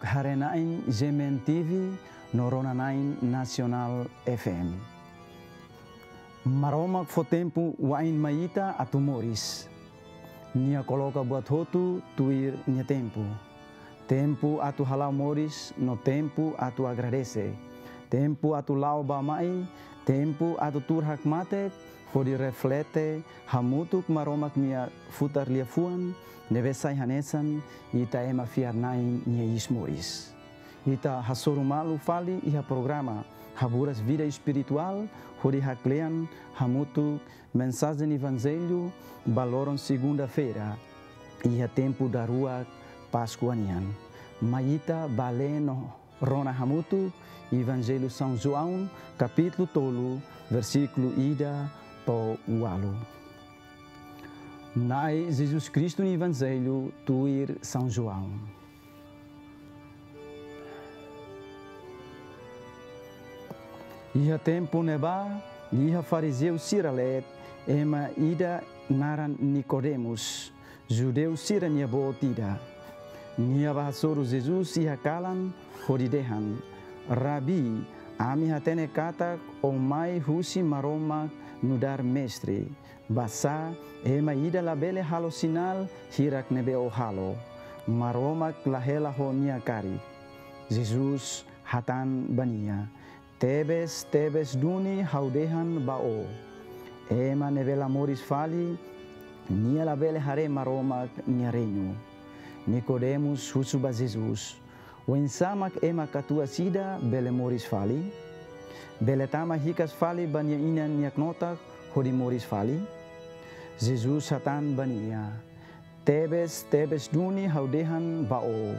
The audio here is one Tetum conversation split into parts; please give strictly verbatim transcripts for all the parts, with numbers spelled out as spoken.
Haree-na'in G M N T V no Rona-na'in Nasionál F M. Maromak fó tempu wa'in mai ita atu moris. Nia koloka buat hotu tuir nia tempu. Tempu atu hala'o moris no tempu atu agradese. Tempu atu la'o bá mai, tempu atu tuur hakmatek, hodi reflete hamutuk Maromak nia futar liafuan, ne'ebé sai hanesan ita ema fiar-na'in nia iis moris. Ita hasoru malu fali iha programa Haburas Vida Espirituál, hodi haklean hamutuk mensajen Evanjellu ba loron segunda-feira, iha tempu daruak Páskua nian. Mai ita bá lee no rona hamutuk Evanjellu São João, kapítulu tolu, versíkulu ida to'o ualu. Na'i Jesus Kristu nia Evanjellu tuir São João. Iha tempu ne'ebá, iha farizeu sira leet, ema ida naran Nikodemus, judeu sira-nia boot ida. Nia bá hasoru Jesus iha kalan, hodi dehan: Rabi, ami hatene katak ó mai husi Maromak nu'udar Mestre. Basá ema ida labele halo sinál hirak ne'ebé ó halo? Maromak la hela ho nia karik. Jesus hatán ba nia: Tebes, tebes duni ha'u dehan ba ó: ema ne'ebé la moris fali, nia labele haree Maromak nia reinu. Nikodemus husu ba Jesus: Oinsá mak ema katuas ida bele moris fali? Bele tama hikas fali ba nia inan nia knotak hodi moris fali? Jesus hatán ba nia: Tebes, tebes duni ha'u dehan ba ó: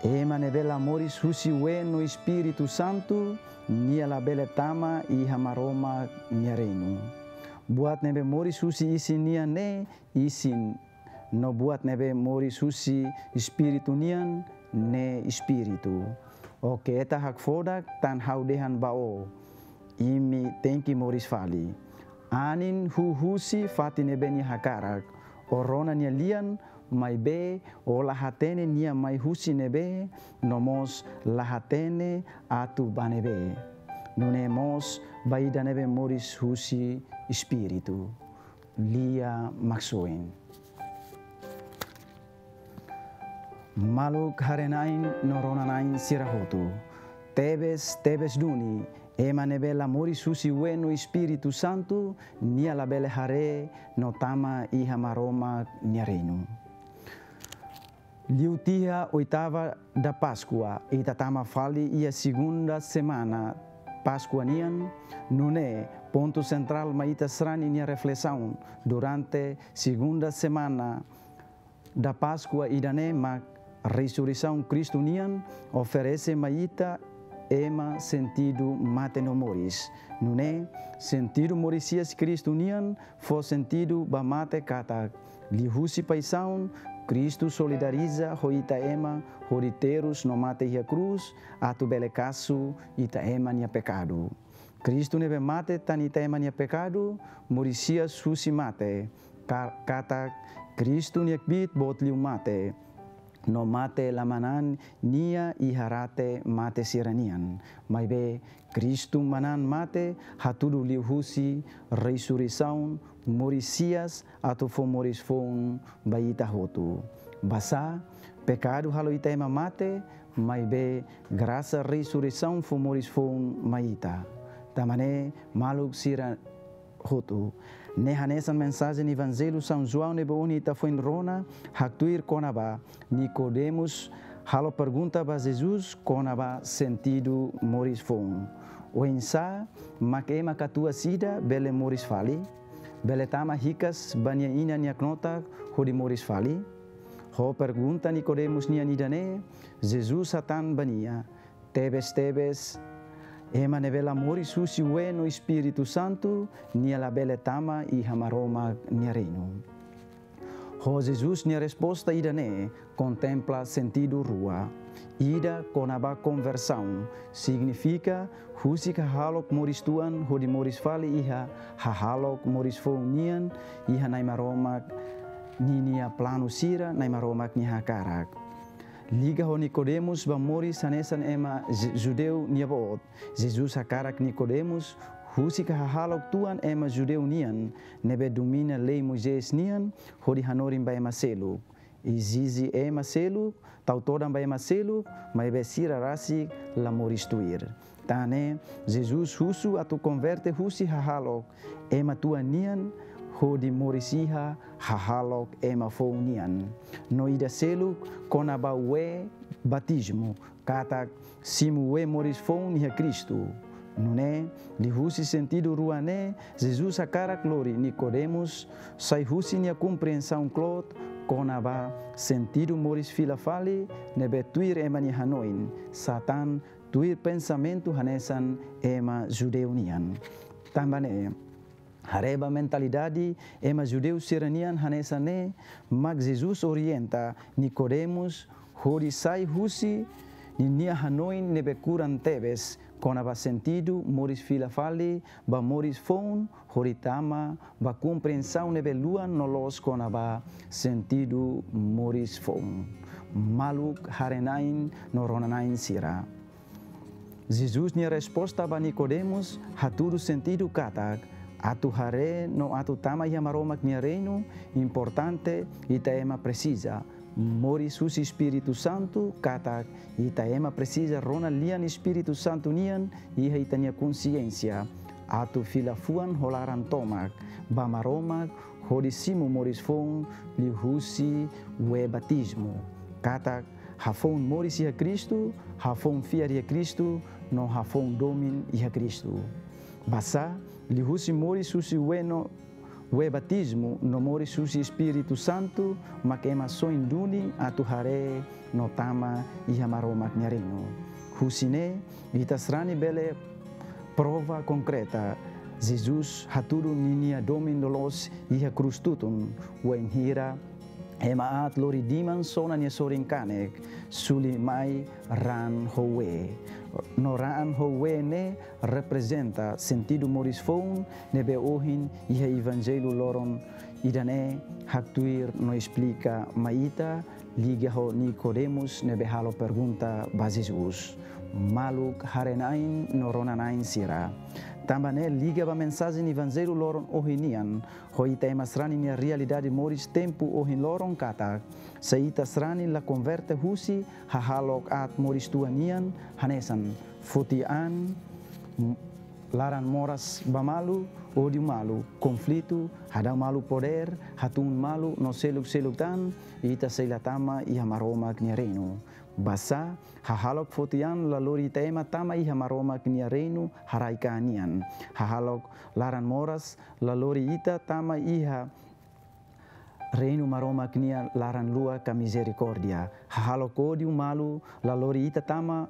ema ne'ebé la moris husi ween no Espíritu Santu, nia labele tama iha Maromak nia reinu. Buat ne'ebé moris husi isin nian ne'e isin, no buat ne'ebé moris husi Espíritu nian ne'e espíritu. Ó keta hakfodak tan ha'u dehan ba ó: imi tenke moris fali. Anin huu husi fatin ne'ebé nia hakarak. Ó rona nia lian, maibé ó la hatene nia mai husi ne'ebé, no mós la hatene atu bá ne'ebé. Nune'e mós ba ida ne'ebé moris husi Espíritu. Lia Maksoin. Maluk haree-na'in no rona-na'in sira hotu. Tebes, tebes duni, ema ne'ebé la moris husi ween no Espíritu Santu, nia labele haree no tama iha Maromak nia reinu. Liu tiha oitava da Páscoa, ita tama fali iha segunda semana Páskua nian, nune'e pontu sentrál mai ita sarani nia reflesaun durante segunda semana da Páscoa ida-ne'e mak resureisaun Kristu nian oferese mai ita ema sentidu mate no moris. Nune'e, sentidu moris hi'as Kristu nian fó sentidu ba mate katak, liuhusi paixaun, Kristu solidariza ho ita ema hodi terus no mate iha krús, atu bele kasu ita ema nia pekadu. Kristu ne'ebé mate tan ita ema nia pekadu, moris hi'as husi mate. Ka-, katak Kristu nia kbiit boot liu mate. No mate la manán nia iha rate mate sira-nian. Maibé Kristu manán mate hatudu liuhusi resureisaun, moris hi'as atu fó moris foun ba ita hotu. Basá, pekadu halo ita ema mate, maibé grasa resureisaun fó moris foun mai ita. Tanba ne'e, maluk sira hotu, ne'e hanesan mensajen Evanjellu São João ne'ebé ohin ita foin rona, haktuir kona-ba Nikodemus halo pergunta ba Jesus kona-ba sentidu moris foun. Oinsá mak ema katuas ida bele moris fali? Bele tama hikas ba nia inan nia knotak hodi moris fali? Ho pergunta Nikodemus nian ida-ne'e, Jesus hatán ba nia: Tebes-tebes, ema ne'ebé la moris husi ween no Espíritu Santu, nia labele tama iha Maromak nia reinu. Ho Jesus nia resposta ida-ne'e kontempla sentidu rua. Ida kona-ba konversaun, signifika husik hahalok moris tuan hodi moris fali iha hahalok moris foun nian, iha Na'i Maromak ninia planu sira, Na'i Maromak nia hakarak. Liga ho Nikodemus ba moris hanesan ema Ju-, Judeu nia boot. Jesus hakarak Nikodemus husik hahalok tuan ema Judeu nian, ne'ebé domina lei Moisés nian, hodi hanorin ba ema seluk. Ezije ema seluk, tau todan ba ema seluk, maibé sira rasik la moris tuir. Tan ne'e, Jesus husu atu konverte husi hahalok ema tuan nian, hodi moris iha hahalok ema foun nian. No ida seluk kona-ba wee batizmu, katak simu wee moris foun iha Kristu. Nune'e, liuhusi sentidu rua ne'e, Jesus hakarak lori Nikodemus sai husi nia komprensaun kloot kona-ba sentidu moris fila fali ne'ebé tuir ema nia hanoin, sá tan tuir pensamentu hanesan ema Judeu nian. Tanba ne'e, haree ba mentalidade ema Judeu sira-nian hanesan ne'e, mak Jesus orienta Nikodemus hodi sai husi ninia hanoin ne'ebé kuran tebes kona-ba sentidu moris fila fali ba moris foun, hodi tama ba komprensaun ne'ebé luan no loos kona-ba sentidu moris foun. Maluk haree-na'in no rona-na'in sira. Jesus nia resposta ba Nikodemus hatudu sentidu katak, atu haree no atu tama iha Maromak nia reinu, importante ita ema presiza moris husi Espíritu Santu, katak ita ema presiza rona lian Espíritu Santu nian iha ita-nia konsiénsia, atu fila fuan ho laran tomak ba Maromak, hodi simu moris foun liuhusi wee batizmu. Katak hafoun moris iha Kristu, hafoun fiar iha Kristu, no hafoun domin iha Kristu. Basá, liuhusi moris husi wee no wee batizmu no moris husi Espíritu Santu, mak ema soin duni atu haree no tama iha Maromak nia reinu. Husi ne'e, ita sarani bele prova konkreta Jesus hatudu ninia domin loloos iha krús tutun, wainhira ema aat lori diman sona nia sorin kanek, suli mai raan ho wee. No raan ho wee ne'e reprezenta sentidu moris foun ne'ebé ohin iha Evanjellu loron ida-ne'e haktuir no esplika mai ita, liga ho Nikodemus ne'ebé halo pergunta ba Jesus. Maluk haree-na'in no rona-na'in sira. Tanba ne'e liga ba mensajen Evanjellu loron ohin nian, ho ita ema sarani nia realidade moris tempu ohin loron katak, se ita sarani la konverte husi hahalok aat moris tuan nian, hanesan foti an, m-, laran moras ba malu, ódiu malu, konflitu, hadau malu podér, hatún malu no seluk-seluk tan, ita sei la tama iha Maromak nia reinu. Basá, hahalok foti an la lori ita ema tama iha Maromak nia reinu haraik-an nian. Hahalok laran moras la lori ita tama iha reinu Maromak nia laran luak ka mizerikórdia. Hahalok ódiu malu la lori ita tama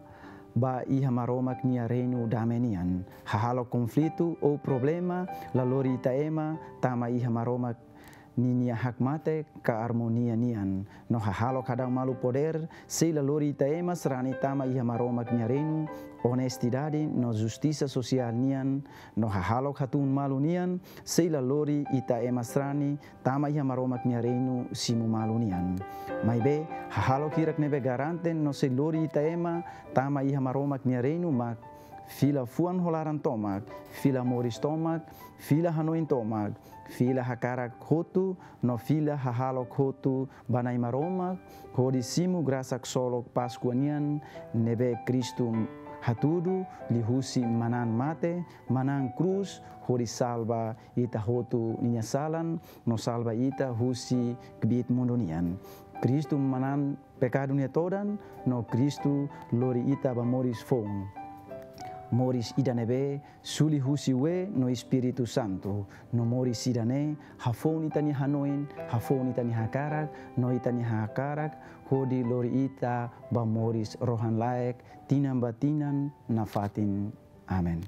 ba iha Maromak nia reinu dame nian. Hahalok konflitu ou problema la lori ita ema tama iha Maromak ninia hakmatek ka armonia nian. No hahalok hadau malu podér sei la lori ita ema sarani tama iha Maromak nia reinu onestidade no justisa sosiál nian. No hahalok hatún malu nian sei la lori ita ema sarani tama iha Maromak nia reinu simu malu nian. Maibé, hahalok hirak ne'ebé garante no sei lori ita ema tama iha Maromak nia reinu mak fila fuan ho laran tomak, fila moris tomak, fila hanoin tomak, fila hakarak hotu, no fila hahalok hotu ba Na'i Maromak, hodi simu grasa ksolok Páskua nian ne'ebé Kristu hatudu liuhusi manán mate, manán krús, hodi salva ita hotu ninia salan, no salva ita husi kbiit mundu nian. Kristu manán pekadu nia todan, no Kristu lori ita ba moris foun. Moris ida ne'ebé suli husi wee no Espíritu Santu. No moris ida-ne'e hafoun ita-nia hanoin, hafoun ita-nia hakarak, no ita-nia hakarak, hodi lori ita ba moris rohan-laek, tinan ba tinan nafatin. Amen.